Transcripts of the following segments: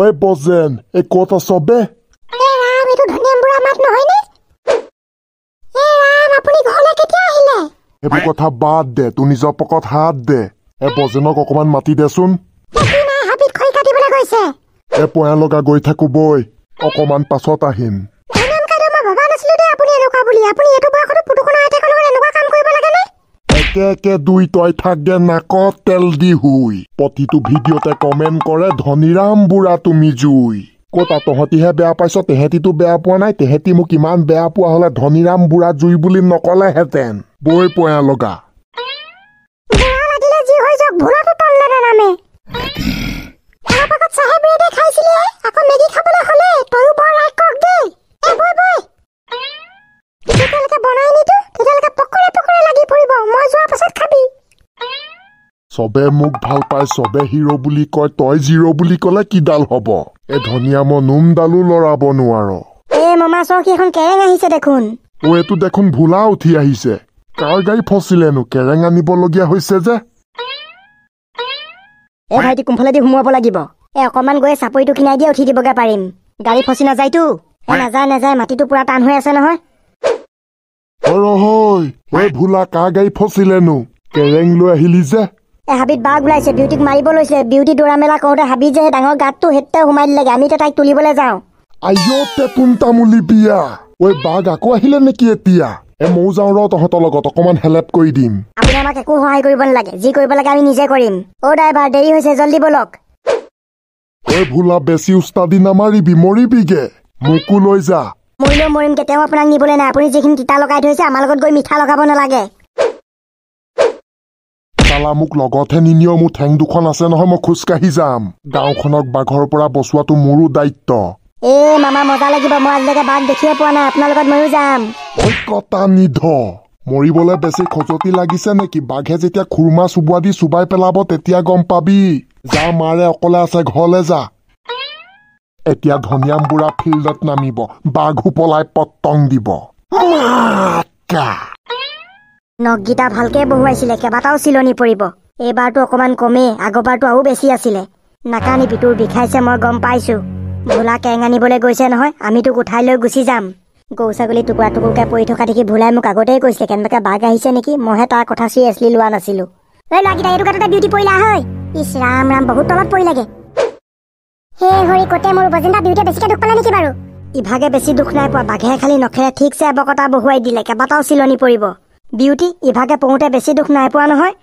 ঐ বজেন, এই ক'ত আছ বে? এ ৰাম, এইটো ধনিয়াম বুঢ়া মাত নহয়নে? এ ৰাম, আপুনি ঘৰলৈ কেতিয়া আহিলে? এইবোৰ কথা বাদ দে, তোৰ নিজৰ পকত হাত দে। এ বজেনক অকমান মাতি দেচোন। সি নাই, হাবিত খৰি কাটিবলৈ গৈছে। এ পয়া লগা গৈ থাকো বৈ, অকমান পাছত আহিম। ধনিয়াম কাইদেউ, মই ভবা নাছিলো দেই আপুনি এনেকুৱা বুলি। আপুনি এইটো বয়সতো পুতুকনৰ আইতাকৰ লগত এনেকুৱা কাম কৰিব লাগেনে? একে একে দুই তই থাকগে নাকত তেল দি শুই। প্ৰতিটো ভিডিঅ'তে কমেণ্ট কৰে ধনীৰাম বুঢ়া তুমি জুই। ক'তা তহঁতিহে বেয়া পাইছ, তেহেঁতিতো বেয়া পোৱা নাই। তেহেঁতি মোক ইমান বেয়া পোৱা হ'লে ধনীৰাম বুঢ়া জুই বুলি নকলেহেঁতেন। বৈ পয়া লগা। বুঢ়া লাগিলে যি হৈ যাওক, ভুলতো তললে নানামে। অলপ আগত চাহে ব্ৰেডে খাইছিলিহে, আকৌ মেগী খাবলৈ হ'লে তয়ো বৰ ৰাক্ষস দেই। এ বৈ বৈ, যেতিয়ালৈকে বনাই নিদিওঁ তেতিয়ালৈকে পকৰে পকৰে লাগি ফুৰিব। মই যোৱাৰ পাছত খাবি। চবে মোক ভাল পায়, চবে হিৰ' বুলি কয়, তই জিৰ' বুলি ক'লে কিডাল হ'ব? এই ধনিয়ামৰ নোমডালো লৰাব নোৱাৰ। এ মামা চাওক, এখন কেৰেং আহিছে দেখোন। অ এইটো দেখোন ভোলা উঠি আহিছে। কাৰ গাড়ী ফচিলেনো, কেৰেং আনিবলগীয়া হৈছে যে? এ ভাইটি, কোনফালেদি সোমোৱাব লাগিব? এ অকণমান গৈ চাপৰিটো কিনাই দিয়ে উঠি দিবগে পাৰিম। গাড়ী ফচি নাযায়তো? এ নাযায় নাযায়, মাটিটো পুৰা টান হৈ আছে নহয়। হয় ঐ ভোলা, কাৰ গাড়ী ফচিলেনো, কেৰেং লৈ আহিলি যে? এ হাবিত বাঘ ওলাইছে, বিউটিক মাৰিব লৈছে। বিউটি দৌৰা মেলা কৰোঁতে হাবিত যে সেই ডাঙৰ গাঁতটো সেইটোতে সোমাই দিলেগে। আমি এতিয়া তাইক তুলিবলৈ যাওঁ। আইঅ টেটোন তামুলী বিয়া, ঐ বাঘ আকৌ আহিলে নেকি এতিয়া? এ ময়ো যাওঁ ৰ তহঁতৰ লগত, অকমান হেল্প কৰি দিম। আপুনি আমাক একো সহায় কৰিব নালাগে, যি কৰিব লাগে আমি নিজে কৰিম। অ ড্ৰাইভাৰ, দেৰি হৈছে, জল্দি বলক। ঐ ভোলা, বেছি উস্তাদি নামাৰিবি, মৰিবিগে। মোকো লৈ যা। মৰিলেও মৰিম, কেতিয়াও আপোনাক নিবলৈ নাই। আপুনি যিখিনি তিতা লগাই থৈছে, আমাৰ লগত গৈ মিঠা লগাব নালাগে। চালা মোক লগতহে নিনিয়, মোৰ ঠেং দুখন আছে নহয়, মই খোজকাঢ়ি যাম। গাঁওখনক বাঘৰ পৰা বচোৱাটো মোৰো দায়িত্ব। এ মামা মজা লাগিব, মই আজিলৈকে বাঘ দেখিয়ে পোৱা নাই, আপোনাৰ লগত ময়ো যাম। ঐ কটা নিধ, মৰিবলৈ বেছি খজতি লাগিছে নেকি? বাঘে যেতিয়া খুৰমা চোবোৱা দি চোবাই পেলাব তেতিয়া গম পাবি। যা, মাৰে অকলে আছে, ঘৰলে যা। এতিয়া ধনিয়াম বুঢ়া ফিল্ডত নামিব, বাঘো পলাই পতং দিব। মাকা নখকেইটা ভালকে বহুৱাইছিলে, কেইবাটাও চিলনি পৰিব। এইবাৰটো অকণমান কমেই, আগৰবাৰটো আৰু বেছি আছিলে। নাকানিবি, তোৰ বিষাইছে মই গম পাইছো। ভোলা কেং আনিবলৈ গৈছে নহয়, আমি তোক উঠাই লৈ গুচি যাম। গৰু ছাগলী টুকুৰা টুকুৰকে পৰি থকা দেখি ভোলাই মোক আগতেই কৈছিলে কেনেবাকে বাঘ আহিছে নেকি। মইহে তাৰ কথা চিৰিয়াছলি লোৱা নাছিলো। ঐ ল'ৰাকেইটা, এইটো গাঁততে বিউটি পৰিলা হয়। ইছ ৰাম ৰাম, বহুত তলত পৰিলেগে। হে হৰি, কতে মোৰ বজেন্দা, বিউটিয়ে বেছিকে দুখ পালে নেকি বাৰু? ইভাগে বেছি দুখ নাই পোৱা, বাঘে খালি নখেৰে ঠিকছে এবকটা বহুৱাই দিলে, কেইবাটাও চিলনি পৰিব। বিউটি ইভাগে পৰোঁতে বেছি দুখ নাই পোৱা নহয়?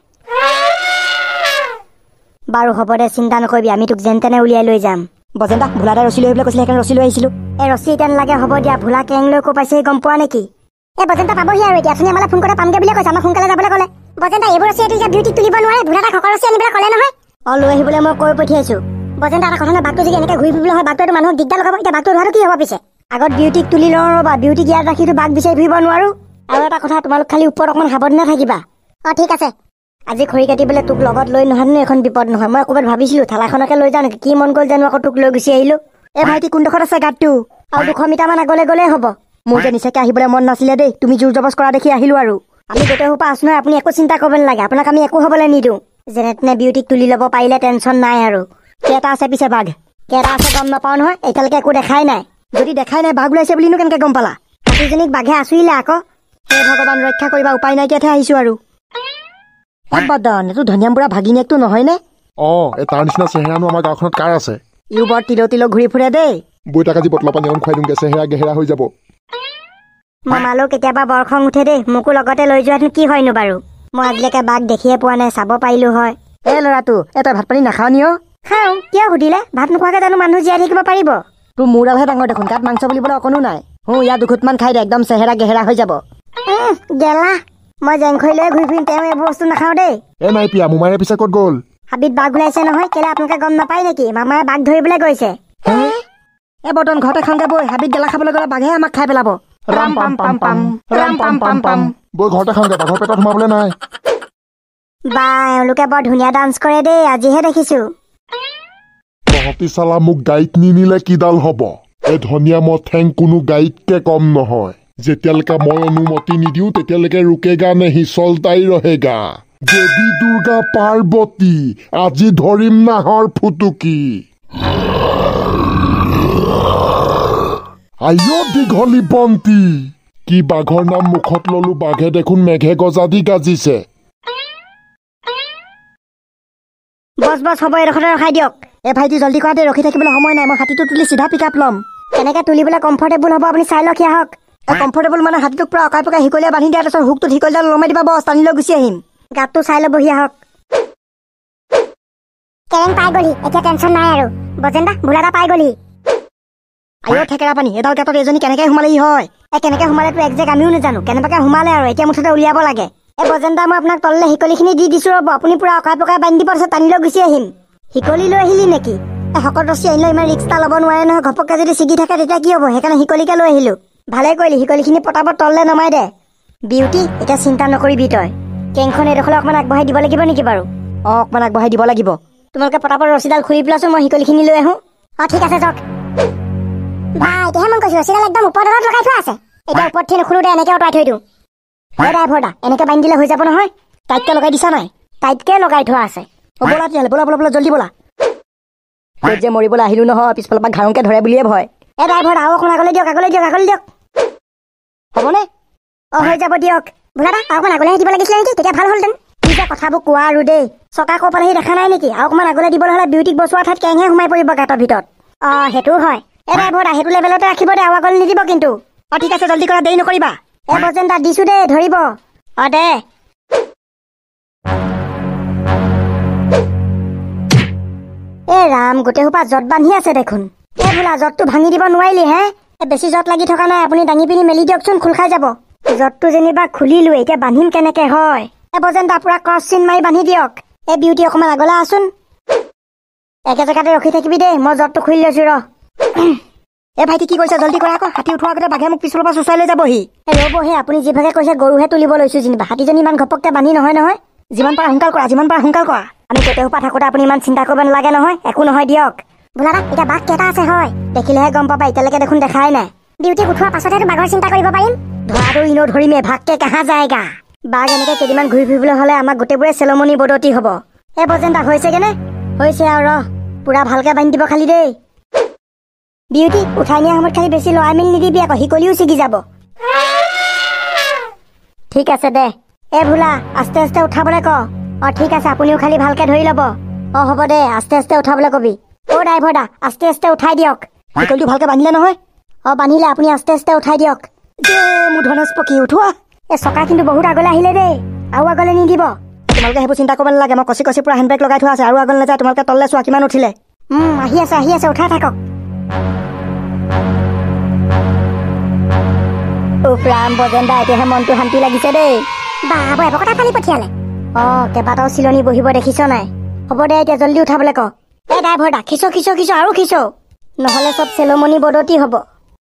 বাৰু হ'ব দে, চিন্তা নকৰিবি, আমি তোক যেন তেনে উলিয়াই লৈ যাম। বজেন্দা, ভোলা দাই ৰছী লৈ আহিবলৈ কৈছিলে, সেইকাৰণে ৰছী লৈ আহিছিলো। এই ৰছী এতিয়া নালাগে, হ'ব দিয়া। ভোলা কেং লৈ ক'ৰ পাইছেহি গম পোৱা নেকি? এই বজেন্দা পাবহি আৰু এতিয়া, অথনি আমালৈ ফোন কৰোঁতে পামগে বুলিয়ে কৈছে, আমাক সোনকালে যাবলৈ ক'লে। বজেন্দা, এইবোৰ ৰছী এইটো এতিয়া বিউটিক তুলিব নোৱাৰে, ভোলা দাক শকৰ ৰছী আনিবলৈ ক'লে নহয়। অ লৈ আহিবলৈ মই কৈ পঠিয়াইছো। বজেন্দা, এটা কথা নহয়, বাঘটো যদি এনেকৈ ঘূৰি ফুৰিবলৈ হয়, বাঘটোৱেতো মানুহক দিগদাৰ লগাব। এতিয়া বাঘটো ধৰাটো কি হ'ব পিছে? আগত বিউটিক তুলি লওঁ ৰ'বা, বিউটিক ইয়াত ৰাখিতো বাঘ বিচাৰি ফুৰিব নোৱাৰো। আৰু এটা কথা, তোমালোক খালি ওপৰত অকণমান সাৱধানে থাকিবা। অ ঠিক আছে। আজি খৰি কাটিবলৈ তোক লগত লৈ নহানো এখন বিপদ নহয়। মই ক'ৰবাত ভাবিছিলো থালাখনকে লৈ যাওঁ নেকি, কি মন গ'ল জানো আকৌ তোক লৈ গুচি আহিলো। এ ভাইটি, কোনডোখৰত আছে গাঁতটো? আৰু 200 মিটাৰমান আগলৈ গ'লেই হ'ব। মোৰ যে নিচাকে আহিবলৈ মন নাছিলে দেই, তুমি জোৰ জবজ কৰা দেখি আহিলো আৰু। আমি গোটেই সোপা আছো নহয়, আপুনি একো চিন্তা কৰিব নালাগে, আপোনাক আমি একো হ'বলৈ নিদিওঁ। যেনে তেনে বিউটিক তুলি ল'ব পাৰিলে টেনচন নাই আৰু। কেইটা আছে পিছে বাঘ? কেইটা আছে গম নাপাওঁ নহয়, এতিয়ালৈকে একো দেখাই নাই। যদি দেখাই নাই, বাঘ ওলাইছে বুলিনো কেনেকে গম পালা? হাতীজনীক বাঘে আঁচুৰিলে আকৌ। হে ভগৱান, ৰক্ষা কৰিবা, উপায় নাইকিয়াতহে আহিছো আৰু। বদন, এইটো ধনিয়াম বুঢ়া ভাগিনীয়েকটো নহয়নে? অ, এই তাৰ নিচিনা চেহেৰানো আমাৰ গাঁওখনত কাৰ আছে? ইও বৰ তিল তিল ঘূৰি ফুৰে দেই। বৈ তাক আজি বটলৰ পানী অকণ খুৱাই দিওঁগে, চেহেৰা গেহেৰা হৈ যাব। মামালৈও কেতিয়াবা বৰ খং উঠে দেই, মোকো লগতে লৈ যোৱাহেঁতেন কি হয়নো বাৰু? মই আজিলৈকে বাঘ দেখিয়ে পোৱা নাই, চাব পাৰিলো হয়। এ ল'ৰাটো, এ তই ভাত পানী নাখাৱ নি? অ খাওঁ, কিয় সুধিলে? ভাত নোখোৱাকে জানো মানুহ জীয়াই থাকিব পাৰিব? তোৰ মূৰডালহে ডাঙৰ দেখোন, গাত মাংস বুলিবলৈ অকণো নাই। ইয়াৰ দুখুটমান খাই দে, একদম চেহেৰা গেহেৰা হৈ যাব। গেলা, মই জেংখৰি লৈ ঘূৰি ফুৰিম, তেওঁ এইবোৰ বস্তু নাখাওঁ দেই। এ নাই পিয়া, মোমাইৰে পিছে ক'ত গ'ল? হাবিত বাঘ ওলাইছে নহয়, কেলে আপোনালোকে গম নাপায় নেকি? মামায়ে বাঘ ধৰিবলৈ গৈছে। এ বৰ্তন ঘৰতে খাওঁগে বৈ, হাবিত গেলা খাবলৈ গ'লে বাঘে আমাক খাই পেলাব। ৰাম পাম পাম পাম, ৰাম পাম পাম পাম। বৈ ঘৰতে খাওঁগে, বাঘৰ পেটত সোমাবলৈ নাই। বা, এওঁলোকে বৰ ধুনীয়া ডান্স কৰে দেই, আজিহে দেখিছো। তহঁতি চালা মোক গাড়ীত নিনিলে কিডাল হ'ব? এই ধনিয়া মই ঠেং কোনো গাড়ীতকে কম নহয়। যেতিয়ালৈকে মই অনুমতি নিদিওঁ তেতিয়ালৈকে ৰুকেগা নেহি, চলতাই ৰহেগা। দেৱী দুৰ্গা পাৰ্বতী, আজি ধৰিম নাহৰ ফুটুকি। আইঅ দীঘলী বন্তি, কি বাঘৰ নাম মুখত ললো, বাঘে দেখোন মেঘে গজা দি গাজিছে। বছ বছ হ'ব, এডোখৰতে ৰখাই দিয়ক। এ ভাইটি জলদি কৰা দেই, ৰখি থাকিবলৈ সময় নাই। মই হাতীটো তুলি চিধা পিক আপ ল'ম। কেনেকৈ তুলিবলৈ কমফৰ্টেবল হ'ব আপুনি চাই লওক আহক। কমফৰ্টেবল মানে হাতীটোক পুৰা অকাই পকাই শিকলীয়া বান্ধি দিয়া, তাৰপিছত হুকটোত শিকলিডাল লমাই দিবা, বছ টানি লৈ গুচি আহিম। গাঁতটো চাই ল'বহি আহক। কেৰেং পাই গ'লি, এতিয়া টেনশ্যন নাই আৰু। বজেন্দা ভোলাদা পাই গ'লি। আইঅ থেকেৰা পানী, এডাল গাঁতত এজনী কেনেকৈ সোমালেহি হয়? এই কেনেকৈ সোমালেতো একজেক্ট আমিও নাজানো, কেনেবাকৈ সোমালে আৰু এতিয়া মুঠতে উলিয়াব লাগে। এই বজেন্দা মই আপোনাক তললৈ শিকলিখিনি দি দিছোঁ ৰ'ব, আপুনি পুৰা অকাই পকাই বান্ধি দিব, তাৰপিছত টানি লৈ গুচি আহিম। শিকলি লৈ আহিলি নেকি? এই শকত ৰছী আনিলে ইমান ৰিক্স এটা ল'ব নোৱাৰে নহয়, ঘপককৈ যদি ছিগি থাকে তেতিয়া কি হ'ব, সেইকাৰণে শিকলিকে লৈ আহিলোঁ। ভালে কৰিলি, শিকলিখিনি পটাপট তললৈ নমাই দে। বিউটি এতিয়া চিন্তা নকৰিবি তই। কেংখন এইডোখৰলৈ অকণমান আগবঢ়াই দিব লাগিব নেকি বাৰু? অঁ অকণমান আগবঢ়াই দিব লাগিব। তোমালোকে পটাপট ৰছীডাল খুলি পেলাচোন, মই শিকলিখিনি লৈ আহোঁ। অঁ ঠিক আছে যাওক। বা এতিয়াহে মন কৈছোঁ, ৰছীডাল একদম ওপৰ ডালত লগাই থোৱা আছে। এতিয়া ওপৰত থৈ নুখোলো দে, এনেকৈ অঁতৰাই থৈ দিওঁ। এই ড্ৰাইভাৰ দা, এনেকৈ বান্ধি দিলে হৈ যাব নহয়? টাইটকৈ লগাই দিছা নাই? টাইটকৈ লগাই থোৱা আছে। অ ব'লা তেতিয়াহ'লে, ব'লা ব'লা ব'লা জলদি ব'লা। ক'ত যে মৰিবলৈ আহিলোঁ নহয়, পিছফালৰ পৰা ঘাৰংকৈ ধৰে বুলিয়ে ভয়। এই ড্ৰাইভাৰ আৰু অকণ আগলৈ দিয়ক, আগলৈ দিয়ক, আগলৈ দিয়ক। হ'বনে? অঁ হৈ যাব দিয়ক। ভোলাদা আৰু অকণ আগলৈ দিব লাগিছিলে নেকি, তেতিয়া ভাল হ'লহেঁতেন। কি যে কথাবোৰ কোৱা আৰু দেই, চকা ক'ৰ পালেহি দেখা নাই নেকি? আৰু অকণমান আগলৈ দিবলৈ হ'লে বিউটিক বচোৱা ঠাইত কেংহে সোমাই পৰিব গাঁতৰ ভিতৰত। অঁ সেইটোও হয়। এই ড্ৰাইভাৰ দা সেইটো লেভেলতে ৰাখিব দে, আৰু আগলৈ নিদিব কিন্তু। অঁ ঠিক আছে, জলদি কৰা, দেৰি নকৰিবা। এই বজেন দা দিছোঁ দেই, ধৰিব। অঁ দে। এ ৰাম, গোটেই সোপা জঁট বান্ধি আছে দেখোন। এই বোলা জঁটটো ভাঙি দিব নোৱাৰিলি হে? বেছি জঁট লাগি থকা নাই, আপুনি দাঙি পিনি মেলি দিয়কচোন, খোল খাই যাব। জঁটটো যেনিবা খুলিলোৱে, এতিয়া বান্ধিম কেনেকে হয়? এই বজেন দা পুৰা ক্ৰছ চিন মাৰি বান্ধি দিয়ক। এই বিউটি অকণমান আগলৈ আহচোন, একে জেগাতে ৰখি থাকিবি দেই, মই জঁটটো খুলি লৈছোঁ ৰ। এ ভাইটি কি কৈছা, জলদি কৰা আকৌ, হাতী উঠোৱাৰ আগতে বাঘে মোক পিছফালৰ পৰা চোঁচৰাই লৈ যাবহি। ৰ'বহে, আপুনি যিভাগে কৈছে গৰুহে তুলিব লৈছোঁ যেনিবা, হাতীজনী ইমান ঘপককৈ বান্ধি নহয় নহয়। যিমান পাৰা সোনকাল কৰা, যিমান পাৰা সোনকাল কৰা। আমি গোটেই সোপা থাকোঁতে আপুনি ইমান চিন্তা কৰিব নালাগে নহয়, একো নহয় দিয়ক। ভোলাদা এতিয়া বাঘ কেইটা আছে হয়? দেখিলেহে গম পাবা, এতিয়ালৈকে দেখোন দেখাই নাই। ডিউটিক উঠোৱাৰ পাছতহে বাঘৰ চিন্তা কৰিব পাৰিম। ধৰাটো ইনেও ধৰিমে, ভাগকে কাহা যায়গা। বাঘ এনেকৈ কেইদিনমান ঘূৰি ফুৰিবলৈ হ'লে আমাৰ গোটেইবোৰে চেলমনি বদতি হ'ব। এই বজেন্দা হৈছেগেনে? হৈছে আৰু, ৰহ পুৰা ভালকৈ বান্ধি দিব খালি দেই। বিউটি উঠাই নিয়াৰ সময়ত খালি বেছি লৰাই মেলি নিদিবি আকৌ, শিকলিও ছিগি যাব। ঠিক আছে দে। এ ভোলা আস্তে আস্তে উঠাবলৈ ক। অঁ ঠিক আছে, আপুনিও খালি ভালকৈ ধৰি ল'ব। অঁ হ'ব দে, আস্তে আস্তে উঠাবলৈ কবি। অ' ড্ৰাইভাৰ দা আস্তে আস্তে উঠাই দিয়ক। শিকলিটো ভালকৈ বান্ধিলে নহয়? অঁ বান্ধিলে, আপুনি আস্তে আস্তে উঠাই দিয়ক। মোৰ ধনেশ পক্ষী উঠোৱা। এই চকা কিন্তু বহুত আগলৈ আহিলে দেই, আৰু আগলৈ নিদিব। তোমালোকে সেইবোৰ চিন্তা কৰিব নালাগে, মই কচি কচি পুৰা হেণ্ডব্ৰেক লগাই থোৱা আছে, আৰু আগলৈ নাযায়। তোমালোকে তললৈ চোৱা কিমান উঠিলে। আহি আছে, আহি আছে, উঠাই থাকক। উফ ৰাম, বজেন্দা এতিয়াহে মনটো শান্তি লাগিছে দেই। বা এবকটা পানী পঠিয়ালে। অঁ কেইবাটাও চিলনি বহিব দেখিছ নাই? হ'ব দে, এতিয়া জলদি উঠাবলৈ ক। এই ড্ৰাইভাৰ দা খিচ খিচ খিচ আৰু খিচ, নহ'লে চব চেলমনি বদতি হ'ব।